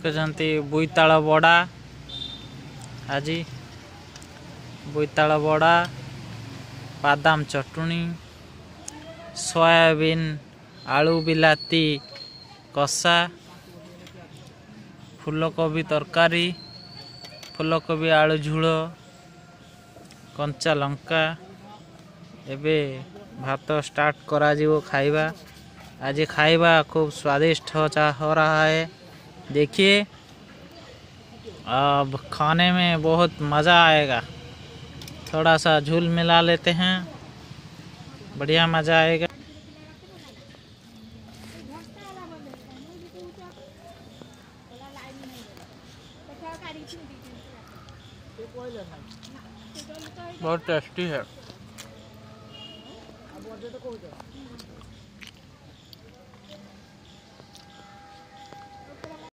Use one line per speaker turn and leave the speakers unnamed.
ଦେଖୁଛନ୍ତି ବୋଇତାଳ ବଡ଼ା। ଆଜି ବୋଇତାଳ ବଡ଼ା, ବାଦାମ ଚଟୁଣି, ସୋୟାବିନ୍ ଆଳୁ ବିଲାତି କଷା, ଫୁଲକୋବି ତରକାରୀ, ଫୁଲକୋବି ଆଳୁ ଝୋଳ, କଞ୍ଚା ଲଙ୍କା। ଏବେ ଭାତ ଷ୍ଟାର୍ଟ କରାଯିବ ଖାଇବା। आज खाଇବା खूब स्वादिष्ट हो रहा है। देखिए, अब खाने में बहुत मज़ा आएगा। थोड़ा सा झोल मिला लेते हैं, बढ़िया मज़ा आएगा। बहुत टेस्टी है।